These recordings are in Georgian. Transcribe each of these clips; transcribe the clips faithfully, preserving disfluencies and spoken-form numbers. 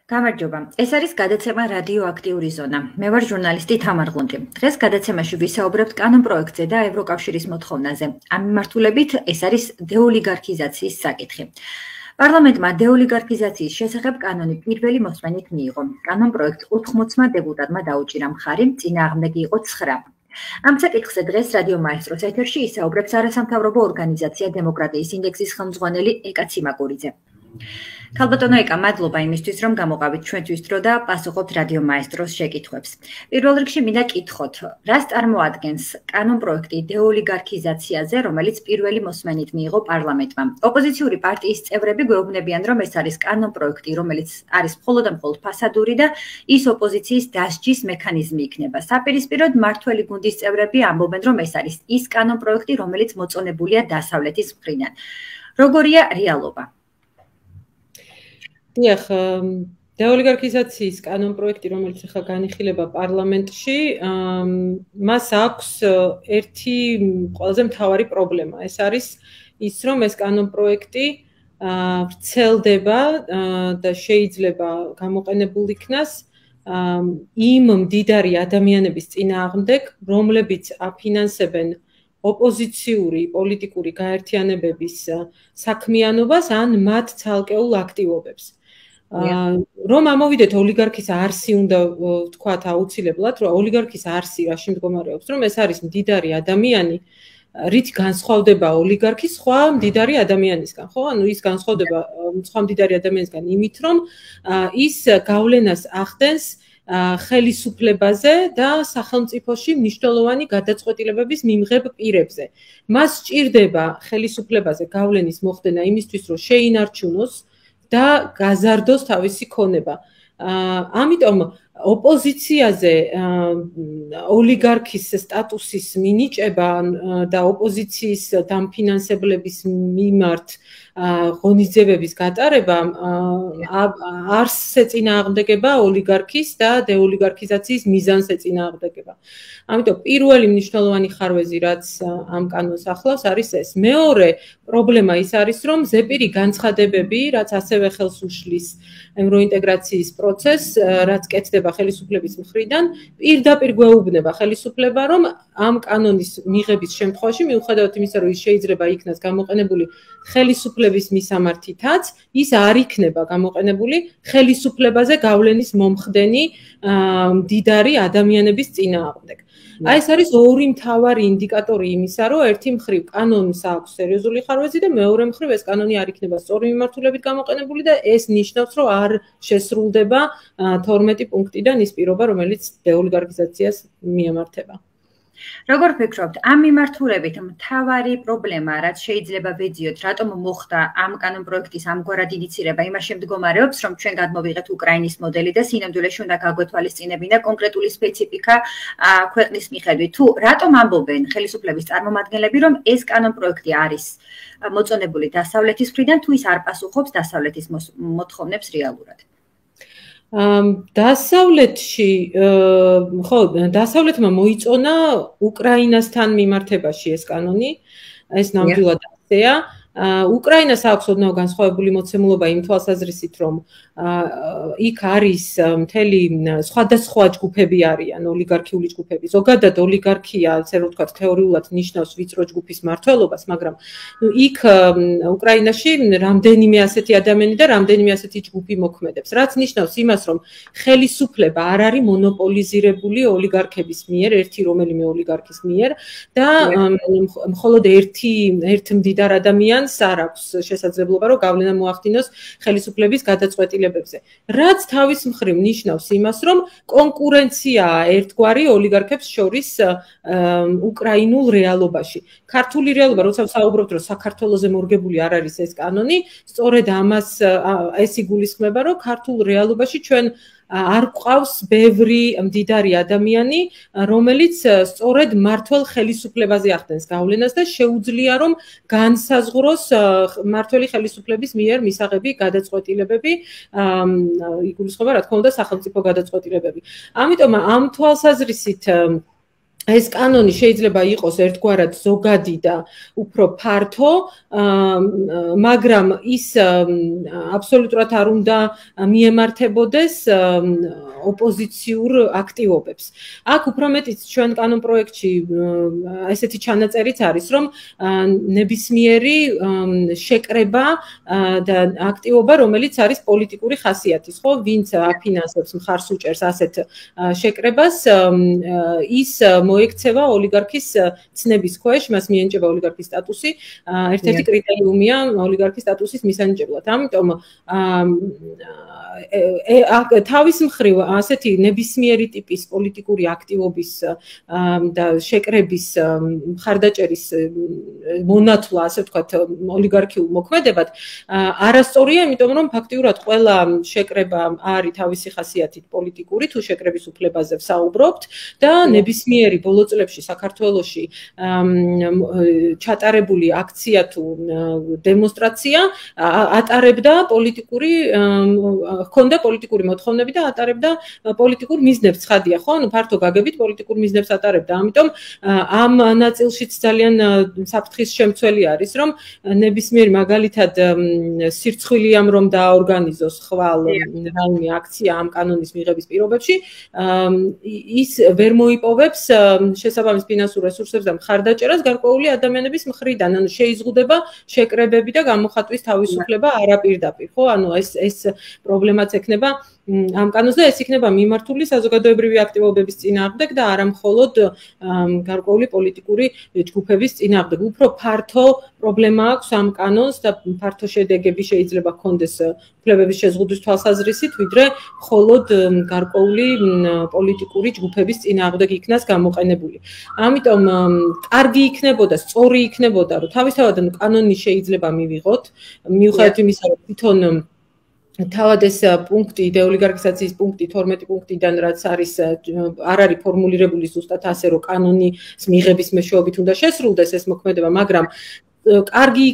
გამარჯობა. ეს არის გადაცემა რადიოაქტიური ზონა. მე ვარ ჟურნალისტი თამარ ღუნდი. დღეს გადაცემაში ვისაუბრებთ კანონ პროექტზე და ევროკავშირის მოთხოვნაზე. ამ მიმართულებით ეს არის დეოლიგარქიზაციის საკითხი. პარლამენტმა დეოლიგარქიზაციის შესახებ კანონი პირველი მოსმენით მიიღო. კანონ პროექტს ოთხმოცმა დეპუტატმა დაუჭირა მხარი, წინააღმდეგი იყო ცხრა. ამ საკითხზე დღეს რადიო მაესტროს ეთერში ისაუბრებს არასამთავრობო ორგანიზაცია დემოკრატიის ინდექსის ხელმძღვანელი ეკა ციმაკურიძე. ქალბატონო ეკა, მადლობა იმისთვის, რომ გამოყავით ჩვენთვის დრო და პასუხობთ რადიო მაესტროს შეკითხვებს. პირველ რიგში მინდა კითხოთ, რას წარმოადგენს კანონ პროექტი დეოლიგარქიზაციაზე, რომელიც პირველი მოსმენით მიიღო პარლამენტმა. ოპოზიციური პარტიის წევრები გვეუბნებიან, რომ ეს არის კანონ პროექტი, რომელიც არის მხოლოდ და მხოლოდ ფასადური და ის ოპოზიციის დასჯის მექანიზმი იქნება. საპირისპიროდ მმართველი გუნდის წევრები ამბობენ, რომ ეს არის ის კანონ პროექტი, რომელიც მოწონებულია დასავლეთის მხრიდან. როგორია რეალობა? დიახ, დეოლიგარქიზაციის კანონ პროექტი, რომელიც ახლა განიხილება პარლამენტში, მას აქვს ერთი ყველაზე მთავარი პრობლემა. ეს არის ის, რომ ეს კანონ პროექტი ვრცელდება და შეიძლება გამოყენებულ იქნას იმ მდიდარი ადამიანების წინააღმდეგ, რომლებიც აფინანსებენ ოპოზიციური პოლიტიკური გაერთიანებების საქმიანობას ან მათ ცალკეულ აქტივობებს. რომ ამოვიდეთ ოლიგარქის არსი უნდა ვთქვათ აუცილებლად, რომ ოლიგარქის არსი რაში მდგომარეობს, რომ ეს არის მდიდარი ადამიანი, რით განსხვავდება ოლიგარქი სხვა მდიდარი ადამიანისგან, ხო? ანუ ის განსხვავდება სხვა მდიდარი ადამიანისგან იმით, რომ ის გავლენას ახდენს ხელისუფლებაზე და სახელმწიფოში მნიშვნელოვანი გადაწყვეტილებების მიმღებ პირებზე. მას სჭირდება ხელისუფლებაზე გავლენის მოხდენა იმისთვის, რომ შეინარჩუნოს და გაზარდოს თავისი ქონება. ამიტომ ოპოზიციაზე ოლიგარქის სტატუსის მინიჭება და ოპოზიციის დამფინანსებლების მიმართ ღონისძიებების გატარება არსს ეწინააღმდეგება ოლიგარქის და დეოლიგარქიზაციის მიზანს ეწინააღმდეგება. ამიტომ პირველი მნიშვნელოვანი ხარვეზი, რაც ამ კანონს ახლავს, არის ეს. მეორე პრობლემა ის არის, რომ ზეპირი განცხადებები, რაც ასევე ხელს უშლის ევროინტეგრაციის პროცესს, რაც კეთდება ხელისუფლების მხრიდან, პირდაპირ გვეუბნება ხელისუფლება, რომ ამ კანონის მიღების შემთხვევაში, მიუხედავად იმისა, რომ ის შეიძლება იქნას გამოყენებული ხელისუფლების მისამართითაც, ის არ იქნება გამოყენებული ხელისუფლებაზე გავლენის მომხდენი მდიდარი ადამიანების წინააღმდეგ. აი ეს არის ორი მთავარი ინდიკატორი იმისა, რომ ერთი მხრივ კანონს აქვს სერიოზული ხარვეზი და მეორე მხრივ ეს კანონი არ იქნება სწორი მიმართულებით გამოყენებული და ეს ნიშნავს, რომ არ შესრულდება თორმეტი პუნქტიდან ის პირობა, რომელიც დეოლიგარქიზაციას მიემართება. როგორ ფიქრობთ, ამ მიმართულებით მთავარი პრობლემა, რაც შეიძლება ვეძიოთ, რატომ მოხდა ამ კანონ პროექტის ამგვარად ინიცირება, იმაში მდგომარეობს, რომ ჩვენ გადმოვიღეთ უკრაინის მოდელი და სინამდვილეში უნდა გაგვეთვალისწინებინა კონკრეტული სპეციფიკა ქვეყნის მიხედვით. თუ რატომ ამბობენ ხელისუფლების წარმომადგენლები, რომ ეს კანონ პროექტი არის მოწონებული დასავლეთის მხრიდან, თუ ის არ პასუხობს დასავლეთის მოთხოვნებს რეალურად? დასავლეთში, ხო, დასავლეთმა მოიწონა უკრაინასთან მიმართებაში ეს კანონი, ეს ნამდვილად ასეა. უკრაინას აქვს ოდნავ განსხვავებული მოცემულობა იმ თვალსაზრისით, რომ იქ არის მთელი სხვადასხვა ჯგუფები არიან, ოლიგარქიული ჯგუფები. ზოგადად ოლიგარქია, ასე რომ ვთქვათ, თეორიულად ნიშნავს ვიწრო ჯგუფის მმართველობას, მაგრამ იქ უკრაინაში რამდენიმე ასეთი ადამიანი და რამდენიმე ასეთი ჯგუფი მოქმედებს, რაც ნიშნავს იმას, რომ ხელისუფლება არ არის მონოპოლიზირებული ოლიგარქების მიერ, ერთი რომელიმე ოლიგარქის მიერ და მხოლოდ ერთი ერთ მდიდარ ადამიანს არ აქვს შესაძლებლობა, რომ გავლენა მოახდინოს ხელისუფლების გადაწყვეტილებებზე. რაც თავის მხრივ ნიშნავს იმას, რომ კონკურენციაა ერთგვარი ოლიგარქებს შორის უკრაინულ რეალობაში. ქართული რეალობა, როცა ვსაუბრობთ, რომ საქართველოზე მორგებული არ არის ეს კანონი, სწორედ ამას ეს იგულისხმება, რომ ქართულ რეალობაში ჩვენ არ გვყავს ბევრი მდიდარი ადამიანი, რომელიც სწორედ მმართველ ხელისუფლებაზე ახდენს გავლენას და შეუძლია რომ განსაზღვროს მმართველი ხელისუფლების მიერ მისაღები გადაწყვეტილებები, იგულისხმება რა თქმა უნდა სახელმწიფო გადაწყვეტილებები. ამიტომ ამ თვალსაზრისით ეს კანონი შეიძლება იყოს ერთგვარად ზოგადი და უფრო ფართო, მაგრამ ის აბსოლუტურად არ უნდა მიემართებოდეს ოპოზიციურ აქტივობებს. აქ უფრო მეტიც ჩვენ კანონ პროექტში ესეთი ჩანაწერიც არის, რომ ნებისმიერი შეკრება და აქტივობა, რომელიც არის პოლიტიკური ხასიათის, ხო, ვინც აფინანსებს, მხარს უჭერს ასეთ შეკრებას, ის მოექცევა ოლიგარქის ცნების ქვეშ, მას მიენიჭება ოლიგარქის სტატუსი. ერთ-ერთი კრიტერიუმია ოლიგარქის სტატუსის მისანიჭებლად. ამიტომ თავის მხრივ ასეთი ნებისმიერი ტიპის პოლიტიკური აქტივობის და შეკრების მხარდაჭერის მონათვლა, ასე ვთქვათ, ოლიგარქიულ მოქმედებად არასწორია, იმიტომ რომ ფაქტიურად ყველა შეკრება არის თავისი ხასიათით პოლიტიკური, თუ შეკრების უფლებაზე ვსაუბრობთ და ნებისმიერი ბოლო წლებში საქართველოში ჩატარებული აქცია თუ დემონსტრაცია ატარებდა პოლიტიკური ჰქონდა პოლიტიკური მოთხოვნები და ატარებდა პოლიტიკურ მიზნებს, ცხადია, ხო? ანუ ფართო გაგებით პოლიტიკურ მიზნებს ატარებდა. ამიტომ ამ ნაწილშიც ძალიან საფრთხის შემცველი არის, რომ ნებისმიერი მაგალითად სირცხვილი ამ რომ დააორგანიზოს ხვალ რაიმე აქცია ამ კანონის მიღების პირობებში, ის ვერ მოიპოვებს შესაბამის ფინანსურ რესურსებს და მხარდაჭერას გარკვეული ადამიანების მხრიდან, ანუ შეიზღუდება შეკრებები და გამოხატვის თავისუფლება არაპირდაპირ, ხო? ანუ ეს ეს პრობლემაც ექნება ამ კანონს და ეს იქნება მიმართული საზოგადოებრივი აქტივობების წინააღმდეგ და არა მხოლოდ გარკვეული პოლიტიკური ჯგუფების წინააღმდეგ. უფრო ფართო პრობლემა აქვს ამ კანონს და ფართო შედეგები შეიძლება ჰქონდეს უფლებების შეზღუდვის თვალსაზრისით, ვიდრე მხოლოდ გარკვეული პოლიტიკური ჯგუფების წინააღმდეგ იქნას გამოყენებული. ამიტომ კარგი იქნებოდა, სწორი იქნებოდა, რომ თავისთავად კანონი შეიძლება მივიღოთ, მიუხედავად იმისა, რომ თვითონ თავად ეს პუნქტი, დეოლიგარქიზაციის პუნქტი თორმეტი პუნქტიდან, რაც არის არ არის ფორმულირებული ზუსტად ასე, რომ კანონის მიღების მეშვეობით უნდა შესრულდეს ეს მოქმედება, მაგრამ კარგი,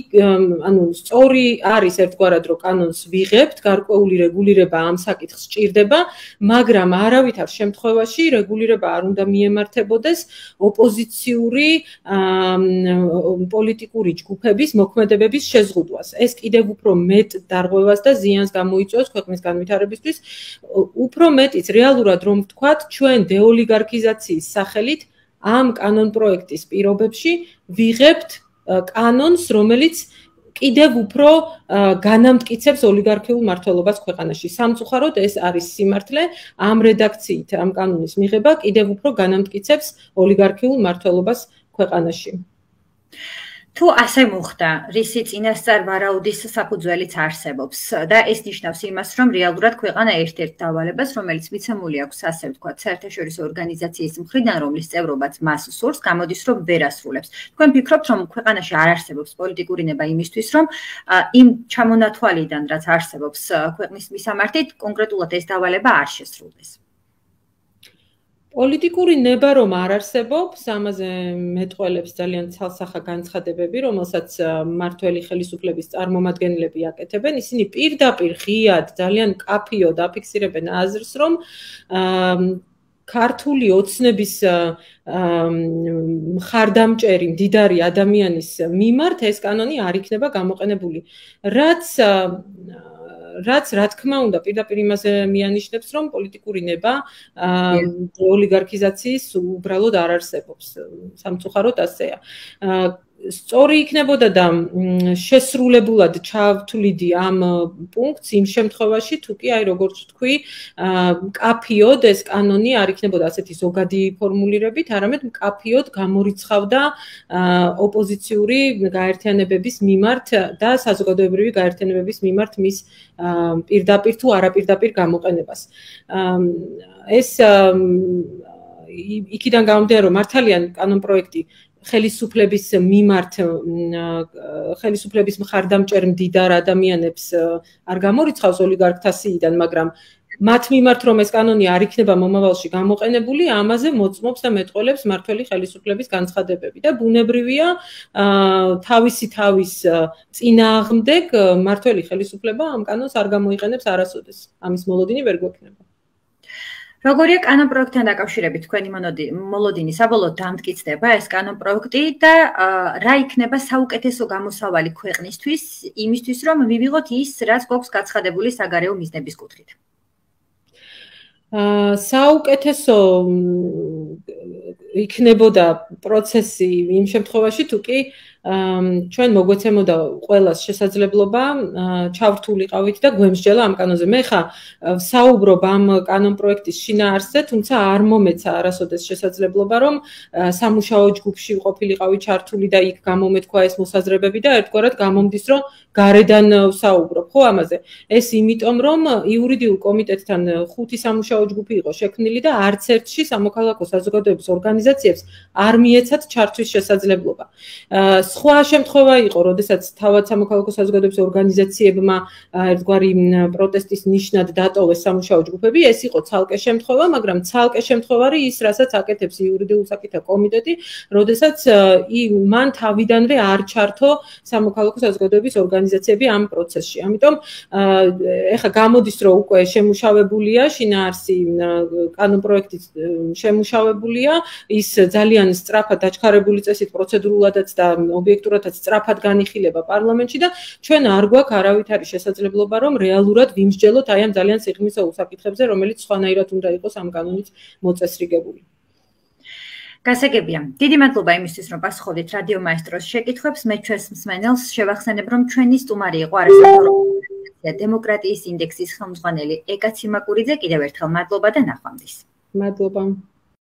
ანუ სწორი არის ერთგვარად, რომ კანონს ვიღებთ, გარკვეული რეგულირება ამ საკითხს სჭირდება, მაგრამ არავითარ შემთხვევაში რეგულირება არ უნდა მიემართებოდეს ოპოზიციური პოლიტიკური ჯგუფების მოქმედებების შეზღუდვას. ეს კიდევ უფრო მეტ დარღვევას და ზიანს გამოიწვევს ქვეყნის განვითარებისთვის, უფრო მეტიც რეალურად რომ ვთქვათ, ჩვენ დეოლიგარქიზაციის სახელით ამ კანონ პროექტის პირობებში ვიღებთ კანონს, რომელიც კიდევ უფრო განამტკიცებს ოლიგარქიულ მმართველობას ქვეყანაში. სამწუხაროდ ეს არის სიმართლე, ამ რედაქციით ამ კანონის მიღება კიდევ უფრო განამტკიცებს ოლიგარქიულ მმართველობას ქვეყანაში. თუ ასე მოხდა, რისი წინასწარ ვარაუდის საფუძველიც არსებობს და ეს ნიშნავს იმას, რომ რეალურად ქვეყანა ერთ-ერთ დავალებას, რომელიც მიცემული აქვს, ასე ვთქვათ, საერთაშორისო ორგანიზაციის მხრიდან, რომლის წევრობაც მას სურს, გამოდის, რომ ვერ ასრულებს. თქვენ ფიქრობთ, რომ ქვეყანაში არ არსებობს პოლიტიკური ნება იმისთვის, რომ იმ ჩამონათვალიდან, რაც არსებობს ქვეყნის მისამართით, კონკრეტულად ეს დავალება არ შესრულდეს? პოლიტიკური ნება რომ არ არსებობს, ამაზე მეტყველებს ძალიან ცალსახა განცხადებები, რომელსაც მმართველი ხელისუფლების წარმომადგენლები აკეთებენ. ისინი პირდაპირ ღიად, ძალიან კაფიოდ აფიქსირებენ აზრს, რომ ქართული ოცნების მხარდამჭერი მდიდარი ადამიანის მიმართ ეს კანონი არ იქნება გამოყენებული. რაც რაც რა თქმა უნდა პირდაპირ იმაზე მიანიშნებს, რომ პოლიტიკური ნება ოლიგარქიზაციის უბრალოდ არ არსებობს. სამწუხაროდ ასეა. სწორი იქნებოდა და შესრულებულად ჩავთვლიდი ამ პუნქტს იმ შემთხვევაში, თუ კი აი როგორც ვთქვი, კაფიოდ ეს კანონი არ იქნებოდა ასეთი ზოგადი ფორმულირებით, არამედ კაფიოდ გამორიცხავდა ოპოზიციური გაერთიანებების მიმართ და საზოგადოებრივი გაერთიანებების მიმართ მის პირდაპირ თუ არაპირდაპირ გამოყენებას. ეს იქიდან გამომდინარე, რომ მართალია კანონ პროექტი ხელისუფლების მიმართ ხელისუფლების მხარდამჭერ მდიდარ ადამიანებს არ გამორიცხავს ოლიგარქთა სიიდან, მაგრამ მათ მიმართ რომ ეს კანონი არ იქნება მომავალში გამოყენებული, ამაზე მოწმობს და მეტყველებს მმართველი ხელისუფლების განცხადებები და ბუნებრივია თავისი თავის წინააღმდეგ მმართველი ხელისუფლება ამ კანონს არ გამოიყენებს არასოდეს. ამის მოლოდინი ვერ გვექნება. როგორია კანონ პროექტთან დაკავშირებით თქვენი მოლოდინი საბოლოოდ დამტკიცდება ეს კანონ პროექტი და რა იქნება საუკეთესო გამოსავალი ქვეყნისთვის იმისთვის რომ მივიღოთ ის რაც გვაქვს გაცხადებული საგარეო მიზნების კუთხით? საუკეთესო იქნებოდა პროცესი იმ შემთხვევაში თუ კი ჩვენ მოგვეცემოდა ყველას შესაძლებლობა ჩავრთულიყავით და გვემსჯელა ამ კანონზე. მე ხა საუბრობ ამ კანონ პროექტის შინაარსზე, თუმცა არ მომეცა არასოდეს შესაძლებლობა რომ სამუშაო ჯგუფში ყოფილიყავი ჩართული და იქ გამომეთქვა ეს მოსაზრებები და ერთგვარად გამომდის რომ გარედან ვსაუბრობ ხო ამაზე. ეს იმიტომ რომ იურიდიულ კომიტეტთან ხუთი სამუშაო ჯგუფი იყო შექმნილი და არც ერთში სამოქალაქო საზოგადოების ორგანიზაციებს არ მიეცათ ჩართვის შესაძლებლობა. სხვა შემთხვევა იყო, როდესაც თავად სამოქალაქო საზოგადოების ორგანიზაციებმა ერთგვარი პროტესტის ნიშნად დატოვეს სამუშაო ჯგუფები, ეს იყო ცალკე შემთხვევა, მაგრამ ცალკე შემთხვევარი ის, რასაც აკეთებს იურიდიულ საკითხთა კომიტეტი, როდესაც მან თავიდანვე არ ჩართო სამოქალაქო საზოგადოების ორგანიზაციები ამ პროცესში. ამიტომ ეხლა გამოდის, რომ უკვე შემუშავებულია შინაარსი კანონ პროექტი შემუშავებულია, ის ძალიან სწრაფად დაჩქარებული წესით პროცედურულადაც და ობიექტურადაც სწრაფად განიხილება პარლამენტში და ჩვენ არ გვაქვს არავითარი შესაძლებლობა რომ რეალურად ვიმსჯელოთ აი ამ ძალიან სიღრმისეულ საკითხებზე, რომელიც სხვანაირად უნდა იყოს ამ კანონით მოწესრიგებული. გასაგებია. დიდი მადლობა იმისთვის, რომ პასუხობდით რადიო მაესტროს შეკითხვებს. მე ჩვენს მსმენელს შევახსენებ, რომ ჩვენი სტუმარი იყო არასამთავრობო ორგანიზაცია დემოკრატიის ინდექსის ხელმძღვანელი ეკა ციმაკურიძე. კიდევ ერთხელ მადლობა და ნახვამდის. მადლობა.